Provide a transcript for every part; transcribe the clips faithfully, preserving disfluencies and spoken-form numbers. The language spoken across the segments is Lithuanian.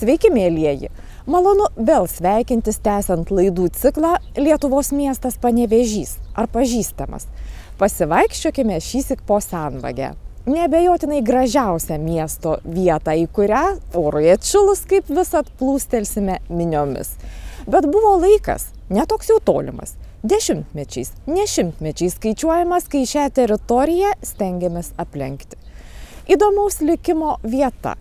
Sveiki, mėlieji! Malonu vėl sveikintis tęsiant laidų ciklą Lietuvos miestas Panevėžys ar pažįstamas. Pasivaikščiokime šįsyk po Senvagę. Neabejotinai gražiausią miesto vietą, į kurią orui atšilus kaip visad plūstelsime miniomis. Bet buvo laikas, netoks jau tolimas, dešimtmečiais, ne šimtmečiais skaičiuojamas, kai šią teritoriją stengiamės aplenkti. Įdomaus likimo vieta.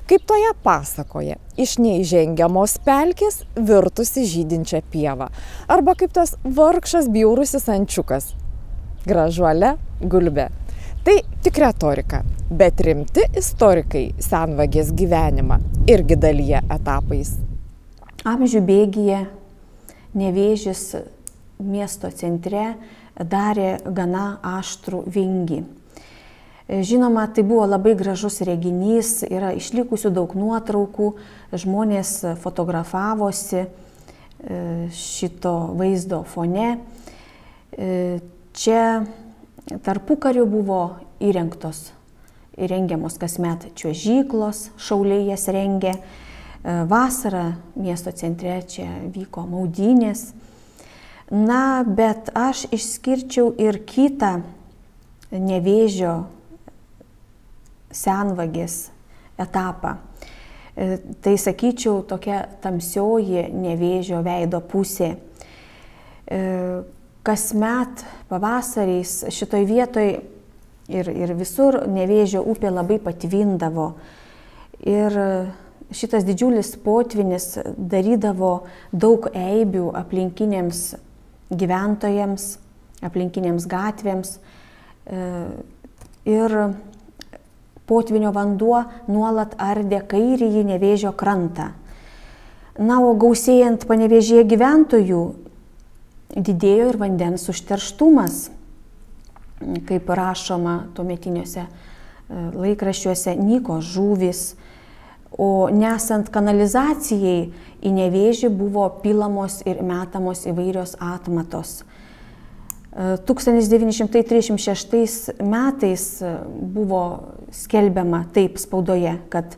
Kaip toje pasakoje, iš neįžengiamos pelkės virtusi žydinčią pievą. Arba kaip tas vargšas bjaurusis ančiukas. Gražuolė gulbė. Tai tik retorika, bet rimti istorikai Senvagės gyvenimą irgi dalyja etapais. Amžių bėgyje Nevėžis miesto centre darė gana aštrų vingį. Žinoma, tai buvo labai gražus reginys, yra išlikusių daug nuotraukų, žmonės fotografavosi šito vaizdo fone. Čia tarpukariu buvo įrengtos, įrengiamos kasmet čiuožyklos, šauliai jas rengė. Vasarą miesto centre čia vyko maudynės. Na, bet aš išskirčiau ir kitą Nevėžio Senvagės etapą. Tai, sakyčiau, tokia tamsioji Nevėžio veido pusė. Kasmet pavasariais šitoj vietoj ir, ir visur Nevėžio upė labai patvindavo. Ir šitas didžiulis potvynis darydavo daug eibių aplinkiniams gyventojams, aplinkinėms gatvėms. Ir potvynio vanduo nuolat ardė kairįjį Nevėžio krantą. Na, o gausėjant Panevėžyje gyventojų, didėjo ir vandens užterštumas, kaip rašoma tuometiniuose laikraščiuose, nyko žuvys, o nesant kanalizacijai į Nevėžį buvo pilamos ir metamos įvairios atmatos. tūkstantis devyni šimtai trisdešimt šeštais metais buvo skelbiama taip spaudoje, kad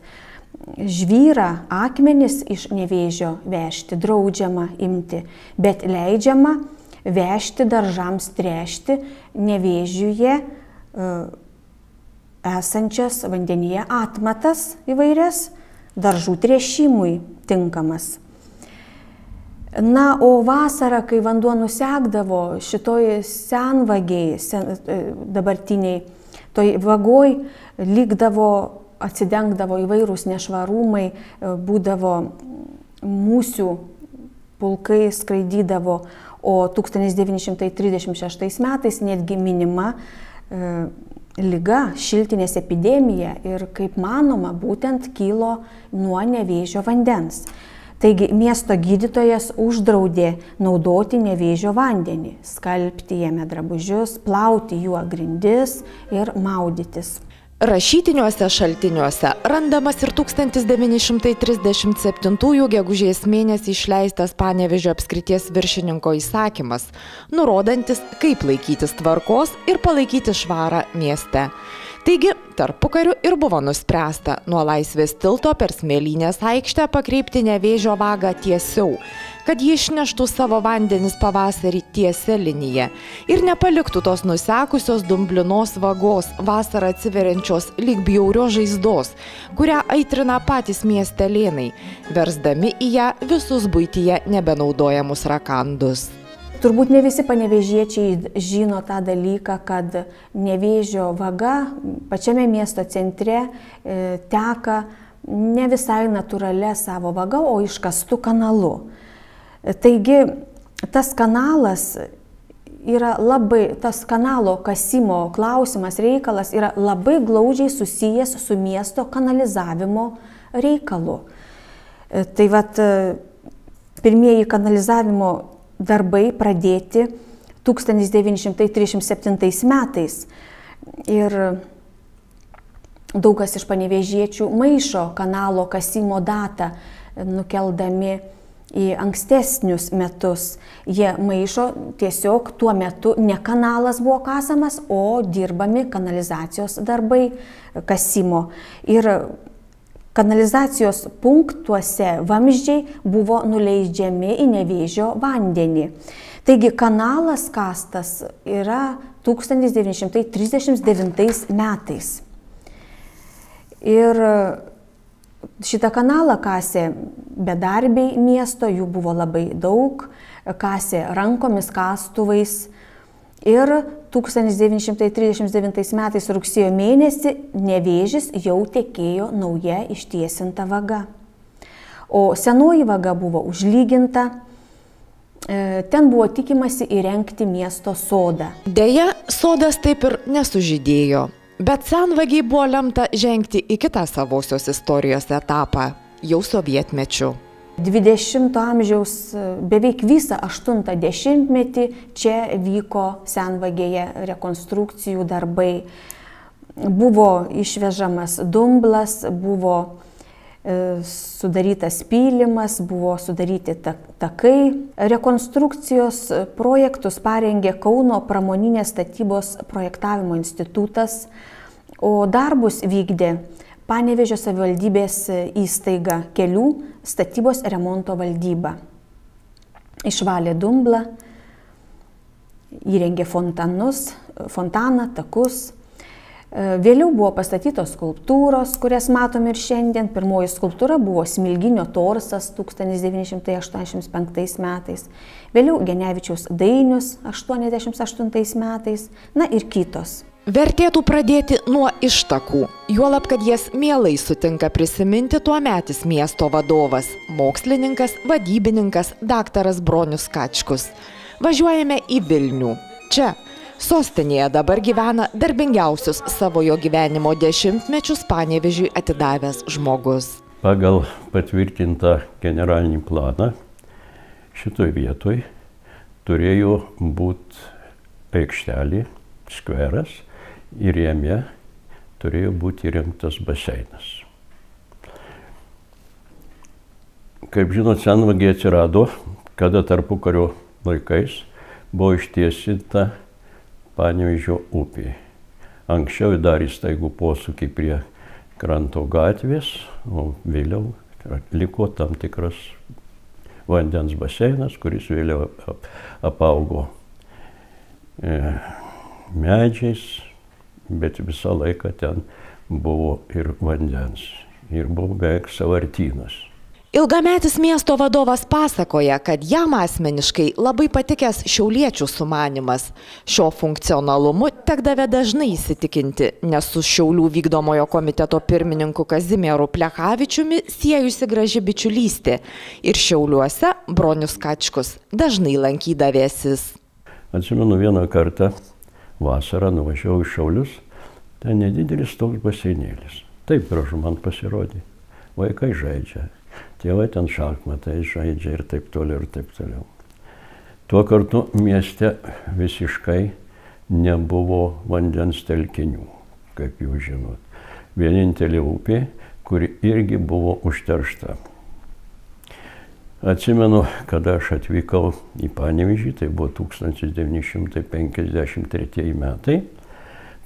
žvyrą, akmenis iš Nevėžio vežti draudžiama imti, bet leidžiama vežti daržams tręšti Nevėžiuje esančias vandenyje atmatas įvairias, daržų tręšimui tinkamas. Na, o vasarą, kai vanduo nusekdavo šitoj Senvagėj, sen, dabartiniai, toj vagoj likdavo, atsidengdavo įvairūs nešvarumai, būdavo musių pulkai skraidydavo, o tūkstantis devyni šimtai trisdešimt šeštais metais netgi minima e, liga, šiltinės epidemija ir, kaip manoma, būtent kilo nuo Nevėžio vandens. Taigi miesto gydytojas uždraudė naudoti Nevėžio vandenį, skalbti jame drabužius, plauti juo grindis ir maudytis. Rašytiniuose šaltiniuose randamas ir tūkstantis devyni šimtai trisdešimt septintųjų gegužės mėnesį išleistas Panevėžio apskrities viršininko įsakymas, nurodantis, kaip laikytis tvarkos ir palaikyti švarą mieste. Taigi, tarpukariu ir buvo nuspręsta nuo Laisvės tilto per Smėlynės aikštę pakreipti Nevėžio vagą tiesiau, kad ji išneštų savo vandenis pavasarį tiesia linija ir nepaliktų tos nusekusios dumblinos vagos vasarą atsiveriančios lyg bjaurios žaizdos, kurią aitrina patys miestelėnai, versdami į ją visus buityje nebenaudojamus rakandus. Turbūt ne visi panevėžiečiai žino tą dalyką, kad Nevėžio vaga pačiame miesto centre e, teka ne visai natūralia savo vaga, o iškastu kanalu. Taigi tas kanalas yra labai, tas kanalo kasimo klausimas, reikalas yra labai glaudžiai susijęs su miesto kanalizavimo reikalu. E, tai vat pirmieji kanalizavimo darbai pradėti tūkstantis devyni šimtai trisdešimt septintais metais. Ir daugas iš panevėžiečių maišo kanalo kasimo datą, nukeldami į ankstesnius metus. Jie maišo tiesiog tuo metu ne kanalas buvo kasamas, o dirbami kanalizacijos darbai kasimo. Ir kanalizacijos punktuose vamzdžiai buvo nuleidžiami į Nevėžio vandenį. Taigi kanalas kastas yra tūkstantis devyni šimtai trisdešimt devintais metais. Ir šitą kanalą kasė bedarbiai miesto, jų buvo labai daug, kasė rankomis, kastuvais. Ir tūkstantis devyni šimtai trisdešimt devintais metais rugsėjo mėnesį Nevėžis jau tekėjo nauja ištiesinta vaga. O senoji vaga buvo užlyginta, ten buvo tikimasi įrengti miesto sodą. Deja, sodas taip ir nesužydėjo, bet senvagiai buvo lemta žengti į kitą savosios istorijos etapą, jau sovietmečiu. dvidešimto amžiaus beveik visą aštuntą dešimtmetį čia vyko senvagėje rekonstrukcijų darbai. Buvo išvežamas dumblas, buvo sudarytas pylimas, buvo sudaryti takai. Rekonstrukcijos projektus parengė Kauno pramoninės statybos projektavimo institutas, o darbus vykdė Panevėžio savivaldybės įstaiga Kelių statybos remonto valdyba. Išvalė dumblą, įrengė fontanus, fontaną, takus. Vėliau buvo pastatytos skulptūros, kurias matome ir šiandien. Pirmoji skulptūra buvo Smilginio torsas tūkstantis devyni šimtai aštuoniasdešimt penktais metais. Vėliau Genevičiaus dainius aštuoniasdešimt aštuntais metais, na ir kitos. Vertėtų pradėti nuo ištakų, juolab, kad jas mielai sutinka prisiminti tuometis miesto vadovas, mokslininkas, vadybininkas daktaras Bronius Kačkus. Važiuojame į Vilnių. Čia, sostinėje, dabar gyvena darbingiausius savojo gyvenimo dešimtmečius Panevėžiui atidavęs žmogus. Pagal patvirtintą generalinį planą šitoj vietoj turėjo būti aikštelė, skveras, ir jame turėjo būti įrengtas baseinas. Kaip žinot, senvagė atsirado, kada tarpukario laikais buvo ištiesinta Panevėžio upė. Anksčiau darė staigų posūkį prie kranto gatvės, o vėliau liko tam tikras vandens baseinas, kuris vėliau apaugo medžiais, bet visą laiką ten buvo ir vandens, ir buvo beveik sąvartynas. Ilgametis miesto vadovas pasakoja, kad jam asmeniškai labai patikęs šiauliečių sumanymas. Šio funkcionalumu tekdavė dažnai įsitikinti, nes su Šiaulių vykdomojo komiteto pirmininku Kazimieru Plechavičiumi siejusi graži bičiulystė. Ir Šiauliuose Bronius Kačkus dažnai lankydavėsis. Atsimenu, vieną kartą vasarą nuvažiavau į Šiaulius, ten nedidelis toks baseinėlis. Taip gražu man pasirodė. Vaikai žaidžia, tėvai ten šachmatai žaidžia ir taip toliau ir taip toliau. Tuo kartu mieste visiškai nebuvo vandens telkinių, kaip jūs žinot. Vienintelė upė, kuri irgi buvo užteršta. Atsimenu, kada aš atvykau į Panevėžį, tai buvo tūkstantis devyni šimtai penkiasdešimt tretieji metai,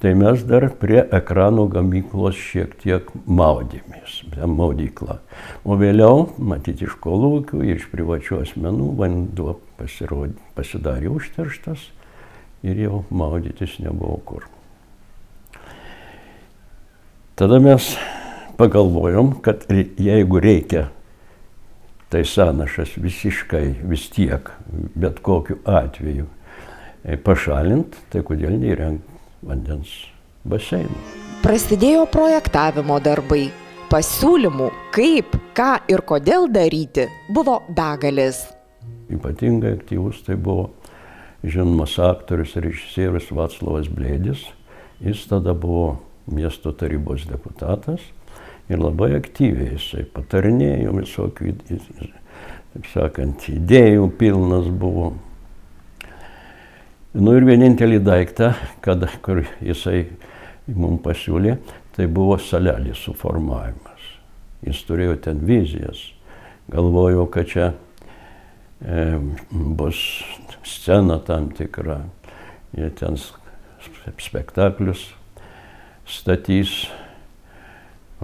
tai mes dar prie ekrano gamyklos šiek tiek maudėmės, maudyklą. O vėliau, matyti iš kolūkių ir iš privačių asmenų, vanduo pasirodė, pasidarė užterštas ir jau maudytis nebuvo kur. Tada mes pagalvojom, kad jeigu reikia tai sąnašas visiškai vis tiek, bet kokiu atveju pašalint, tai kodėl neįrengti vandens baseinų. Prasidėjo projektavimo darbai. Pasiūlymų, kaip, ką ir kodėl daryti, buvo begalės. Ypatingai aktyvus tai buvo žinomas aktorius ir režisierius Vaclovas Blėdis. Jis tada buvo miesto tarybos deputatas. Ir labai aktyviai jisai patarinėjo visokių, taip sakant, idėjų pilnas buvo. Nu ir vienintelį daiktą, kad, kur jisai mums pasiūlė, tai buvo salelės suformavimas. Jis turėjo ten vizijas. Galvojo, kad čia e, bus scena tam tikra. Jie ten spektaklius statys.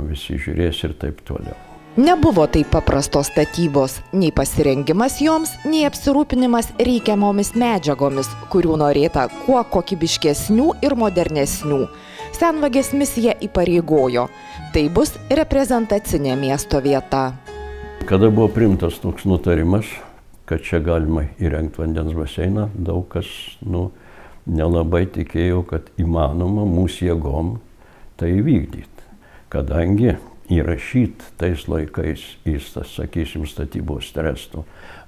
visi žiūrės ir taip toliau. Nebuvo taip paprastos statybos, nei pasirengimas joms, nei apsirūpinimas reikiamomis medžiagomis, kurių norėta kuo kokybiškesnių ir modernesnių. Senvagės misija įpareigojo. Tai bus reprezentacinė miesto vieta. Kada buvo priimtas toks nutarimas, kad čia galima įrengti vandens baseiną, daug kas nu, nelabai tikėjo, kad įmanoma mūsų jėgom tai įvykdyti. Kadangi įrašyti tais laikais į, sakysim, statybos trestų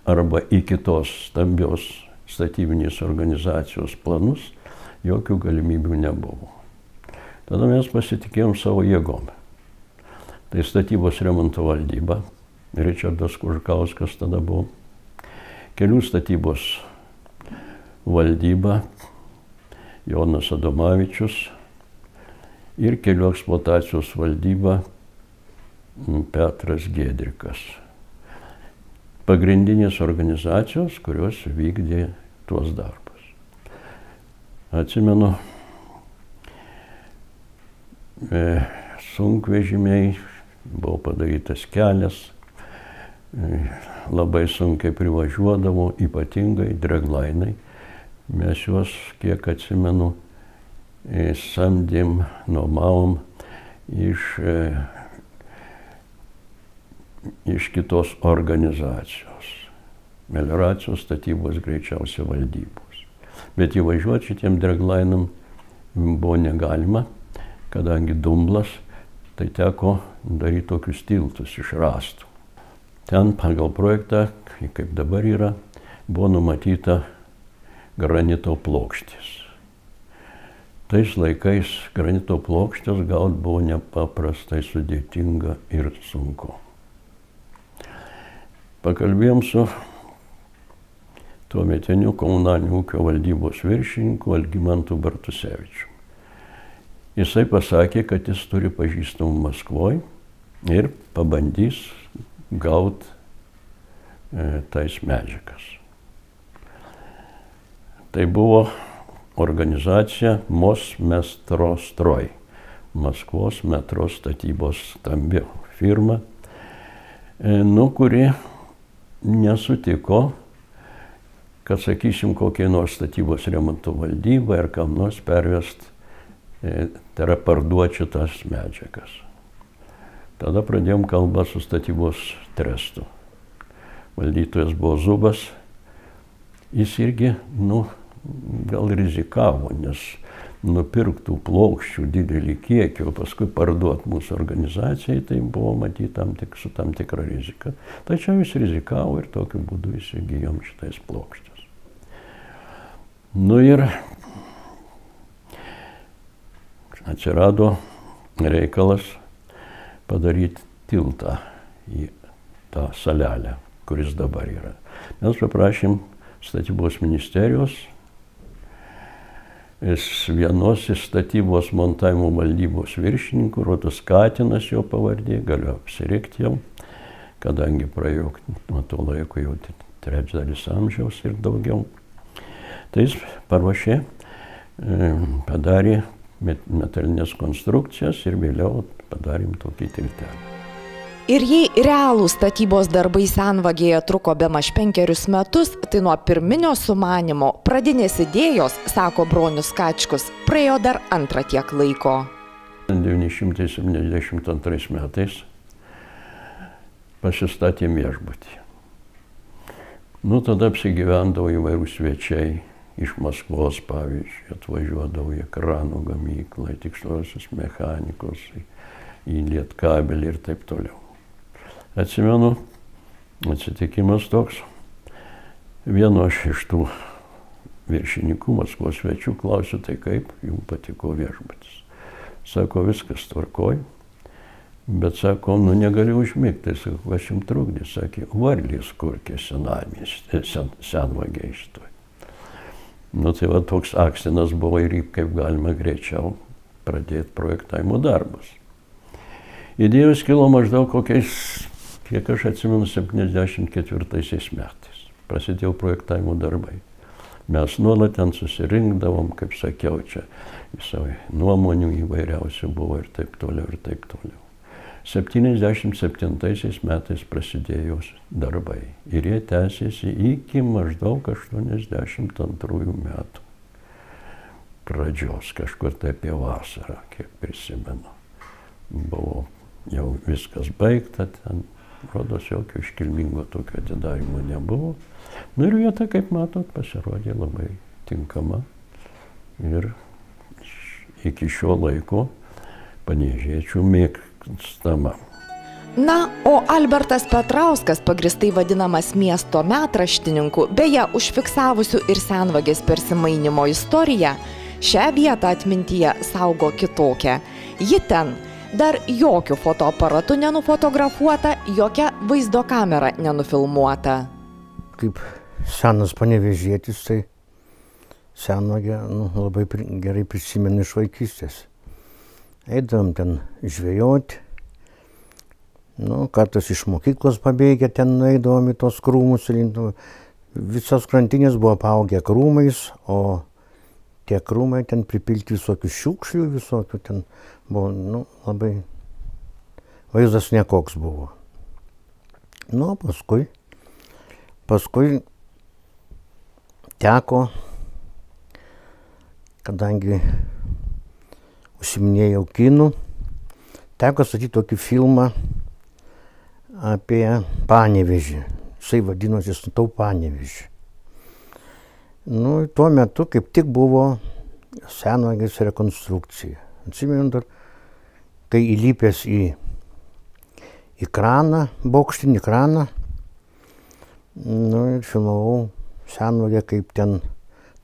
arba į kitos stambios statybinės organizacijos planus, jokių galimybių nebuvo. Tada mes pasitikėjom savo jėgom. Tai statybos remonto valdyba, Ričardas Kužkauskas tada buvo, kelių statybos valdyba, Jonas Adomavičius ir kelių eksploatacijos valdyba, Petras Giedrikas. Pagrindinės organizacijos, kurios vykdė tuos darbus. Atsimenu, e, sunkvežimiai, buvo padarytas kelias, e, labai sunkiai privažiuodavo, ypatingai draglainai. Mes juos, kiek atsimenu, e, samdėm, nuomavom iš e, iš kitos organizacijos, melioracijos statybos greičiausiai valdybos. Bet įvažiuoti šitiem draglainam buvo negalima, kadangi dumblas, tai teko daryti tokius tiltus iš rąstų. Ten pagal projektą, kaip dabar yra, buvo numatyta granito plokštės. Tais laikais granito plokštės gauti buvo nepaprastai sudėtinga ir sunku. Pakalbėjom su tuometiniu komunalinio ūkio valdybos viršininku Algimantu Bartusevičiu. Jisai pasakė, kad jis turi pažįstamų Maskvoje ir pabandys gauti e, tais medžiagas. Tai buvo organizacija Mosmetrostroj, Maskvos metro statybos stambi firma, e, nu, kuri nesutiko, kad, sakysim, kokiai nors statybos remonto valdybai ar kam nors pervest, e, tai yra parduoti šitas medžiagas. Tada pradėjom kalbą su statybos trestu. Valdytojas buvo Zubas, jis irgi, nu, gal rizikavo, nes nupirktų plokščių didelį kiekį, o paskui parduoti mūsų organizacijai, tai buvo matyti tam tik, su tam tikra rizika. Tačiau jis rizikavo ir tokiu būdu įsigijom šitais plokštės. Nu ir atsirado reikalas padaryti tiltą į tą salelę, kuris dabar yra. Mes paprašėm statybos ministerijos, vienos iš statybos montavimo valdybos viršininkų, Rodas Katinas jo pavardė, galiu apsirikti jau, kadangi praėjo nuo to laiko jau trečdalis amžiaus ir daugiau. Tai jis paruošė, padarė metalinės konstrukcijas ir vėliau padarėm tokį tiltelį. Ir jei realūs statybos darbai Senvagėje truko bemaž penkerius metus, tai nuo pirminio sumanimo, pradinės idėjos, sako Bronius Kačkus, praėjo dar antrą tiek laiko. devyni šimtai septyniasdešimt antrais metais pasistatėm viešbutį. Nu, tada apsigyvendavo įvairūs svečiai iš Maskvos, pavyzdžiui, atvažiuodavo į kranų gamyklą, tiksliosios mechanikos, į Lietkabelį ir taip toliau. Atsimenu, atsitikimas toks, vieno aš iš tų viršininkų Maskvos svečių klausiu, tai kaip jums patiko viešbutis. Sako, viskas tvarkoj, bet sako, nu negaliu užmigti, tai sako, kas jums trukdė, sakė, varlės kurkė senamiestį, sen, Senvagėje šitoj. Nu tai va toks akstinas buvo ir kaip galima greičiau pradėti projektavimo darbus. Idėjos kilo maždaug kokiais, kiek aš atsimenu, septyniasdešimt ketvirtaisiais metais. Prasidėjo projektavimo darbai. Mes nuolat ten susirinkdavom, kaip sakiau, čia visai nuomonių įvairiausių buvo ir taip toliau, ir taip toliau. septyniasdešimt septintaisiais metais prasidėjo darbai ir jie tęsėsi iki maždaug aštuoniasdešimt antrųjų metų pradžios, kažkur tai apie vasarą, kiek prisimenu. Buvo jau viskas baigta, ten, rodos, jokio iškilmingo tokio atidarimo nebuvo. Nu ir vieta, kaip matot, pasirodė labai tinkama ir iki šio laiko panevėžiečių mėgstama. Na, o Albertas Petrauskas, pagristai vadinamas miesto metraštininku, beje, užfiksavusiu ir senvagės persimainymo istoriją, šią vietą atmintyje saugo kitokią. Ji ten dar jokių fotoaparatų nenufotografuota, jokia vaizdo kamera nenufilmuota. Kaip senas panevėžietis, tai senvagę nu, labai pri, gerai prisimenu iš vaikystės. Eidavom ten žvejoti, nu, kartais iš mokyklos pabėgę ten eidavom į tos krūmus, visos krantinės buvo apaugę krūmais, o tie krūmai ten pripilti visokių šiukšlių, visokių ten buvo, nu, labai vaizdas nekoks buvo. Nu, paskui, paskui teko, kadangi užsiminėjau kinų, teko statyti tokį filmą apie Panevėžį. Jisai vadinosi Statau Panevėžį. Nu, tuo metu kaip tik buvo senvagės rekonstrukcija. Atsimenu dar, kai įlipęs į, į kraną, bokštinį kraną, nu, ir filmavau senvagę, kaip ten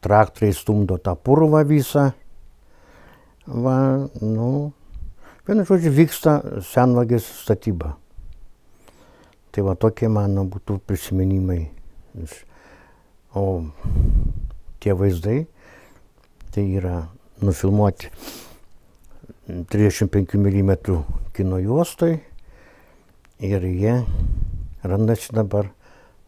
traktoriai stumdo tą purvą visą. Va, nu, vienu žodžiu, vyksta senvagės statyba. Tai va, tokie mano būtų prisiminimai. O tie vaizdai, tai yra nufilmuoti trisdešimt penkių milimetrų kino juostoj ir jie randasi dabar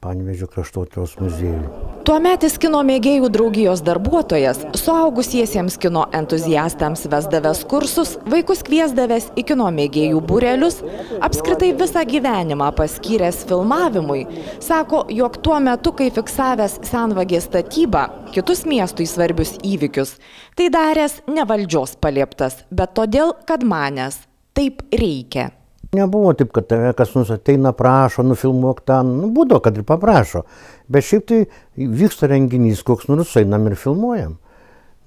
Panevėžio kraštotyros muziejuje. Tuometis kino mėgėjų draugijos darbuotojas, suaugusiesiems kino entuziastams vesdavęs kursus, vaikus kviesdavęs į kino mėgėjų būrelius, apskritai visą gyvenimą paskyręs filmavimui, sako, jog tuo metu, kai fiksavęs senvagės statybą, kitus miestui svarbius įvykius, tai daręs ne valdžios palieptas, bet todėl, kad manęs taip reikia. Nebuvo taip, kad tave kas nors ateina, prašo, nufilmuok ten, nu, būdavo, kad ir paprašo. Bet šiaip tai vyksta renginys, koks nors einam ir filmuojam.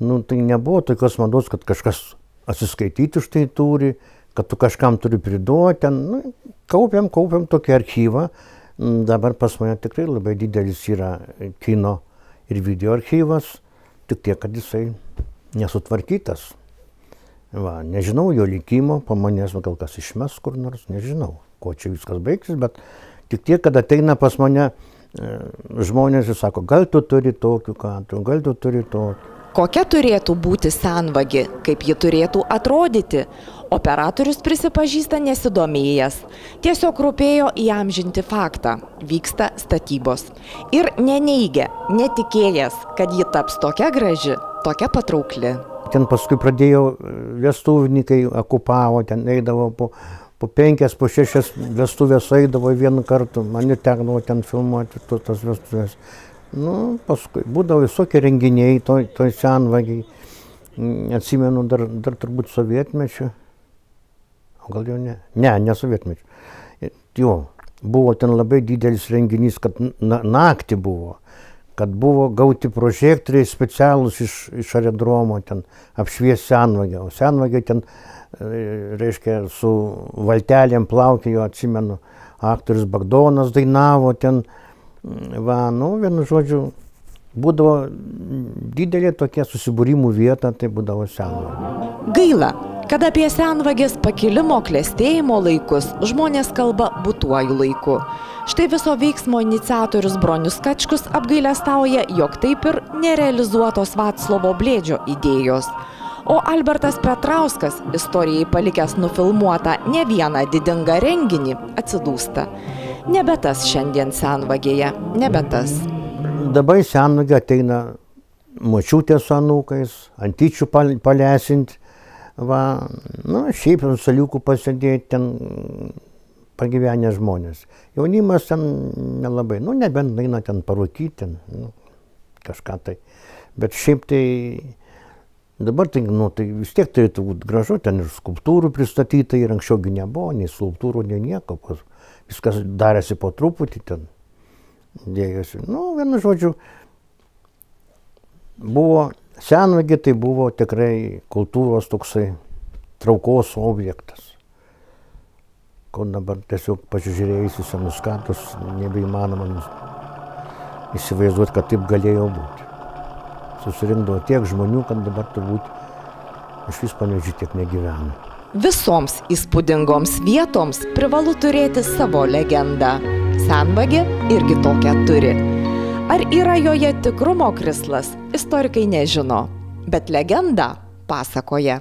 Nu, tai nebuvo tokios mados, kad kažkas atsiskaityti už tai turi, kad tu kažkam turi priduoti. Nu, kaupiam, kaupiam tokį archyvą. Dabar pas mane tikrai labai didelis yra kino ir video archyvas, tik tiek, kad jisai nesutvarkytas. Va, nežinau jo likimo, po manęs gal kas išmes kur nors, nežinau, ko čia viskas baigsis, bet tik tiek, kad ateina pas mane e, žmonės ir sako, gal tu turi tokių kadrų, gal tu turi tokių. Kokia turėtų būti senvagė, kaip ji turėtų atrodyti? Operatorius prisipažįsta nesidomėjęs. Tiesiog rūpėjo įamžinti faktą. Vyksta statybos. Ir neneigia, netikėjęs, kad ji taps tokia graži, tokia patraukli. Ten paskui pradėjo vestuvininkai, okupavo, ten eidavo po, po penkias, po šešias vestuvės eidavo vienu kartu, mane tekdavo ten filmuoti to, tas vestuvės. Nu, paskui būdavo visokie renginiai, toj, toj senvagiai, atsimenu dar, dar turbūt sovietmečiu, o gal jau ne, ne, ne sovietmečiu. Jo, buvo ten labai didelis renginys, kad na, naktį buvo. Kad buvo gauti prožektoriai specialūs iš, iš aerodromo, ten apšvies senvagę. O senvagė ten, reiškia, su valtelėm plaukėjo, atsimenu, aktorius Bagdonas dainavo ten. Va, nu, vienu žodžiu, būdavo didelė tokia susibūrimų vieta, tai būdavo senvagė. Gaila, kad apie senvagės pakilimo klestėjimo laikus žmonės kalba būtuoju laiku. Štai viso veiksmo iniciatorius Bronius Kačkus apgailestauja, jog taip ir nerealizuotos Vaclovo Blėdžio idėjos. O Albertas Petrauskas, istorijai palikęs nufilmuotą ne vieną didingą renginį, atsidūsta. Nebe tas šiandien senvagėje, nebe tas. Dabar senvagė ateina močiutė su anūkais, antyčių palesinti, Va, nu, šiaip ant saliukų pasėdėti ten pagyvenę žmonės. Jaunimas ten nelabai, nu, nebent eina ten parūkyti, ten, nu, kažką tai. Bet šiaip tai, dabar tai, nu, tai vis tiek turėtų būti gražu, ten ir skulptūrų pristatyta, ir anksčiaugi nebuvo, nei skulptūrų, nei nieko. Viskas darėsi po truputį ten, dėjosi. Nu, vienu žodžiu, buvo Senvagė, tai buvo tikrai kultūros toksai traukos objektas. Ko dabar tiesiog pasižiūrėjus į senus katus, nebeįmanoma įsivaizduoti, kad taip galėjo būti. Susirinkdavo tiek žmonių, kad dabar turbūt iš vis Panevėžy tiek negyvena. Visoms įspūdingoms vietoms privalu turėti savo legendą. Senvagė irgi tokią turi. Ar yra joje tikrumo krislas, istorikai nežino, bet legenda pasakoja.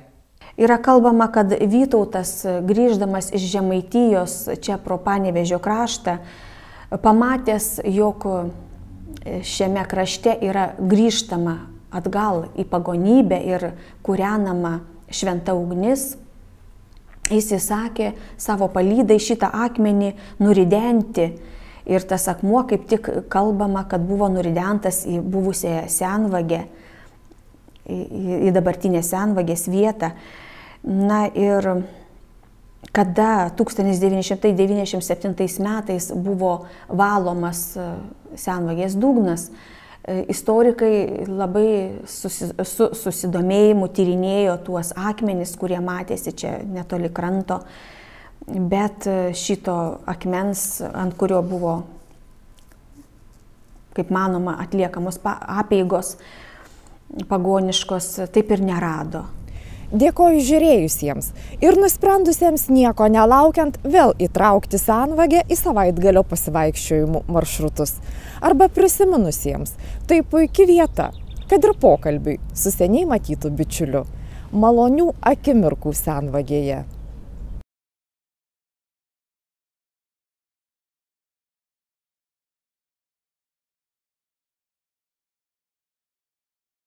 Yra kalbama, kad Vytautas, grįždamas iš Žemaitijos čia pro Panevėžio kraštą, pamatęs, jog šiame krašte yra grįžtama atgal į pagonybę ir kūrenama šventa ugnis, jis įsakė savo palydai šitą akmenį nuridenti. Ir tas akmuo kaip tik kalbama, kad buvo nuridentas į buvusią Senvagę, į, į dabartinę Senvagės vietą. Na ir kada tūkstantis devyni šimtai devyniasdešimt septintais metais buvo valomas Senvagės dugnas, istorikai labai susi, su susidomėjimu tyrinėjo tuos akmenis, kurie matėsi čia netoli kranto. Bet šito akmens, ant kurio buvo, kaip manoma, atliekamos apeigos pagoniškos, taip ir nerado. Dėkoju žiūrėjusiems ir nusprendusiems nieko nelaukiant vėl įtraukti Senvagę į savaitgalio pasivaikščiojimų maršrutus. Arba prisiminusiems, tai puikia vieta, kad ir pokalbiui su seniai matytu bičiuliu. Malonių akimirkų Senvagėje.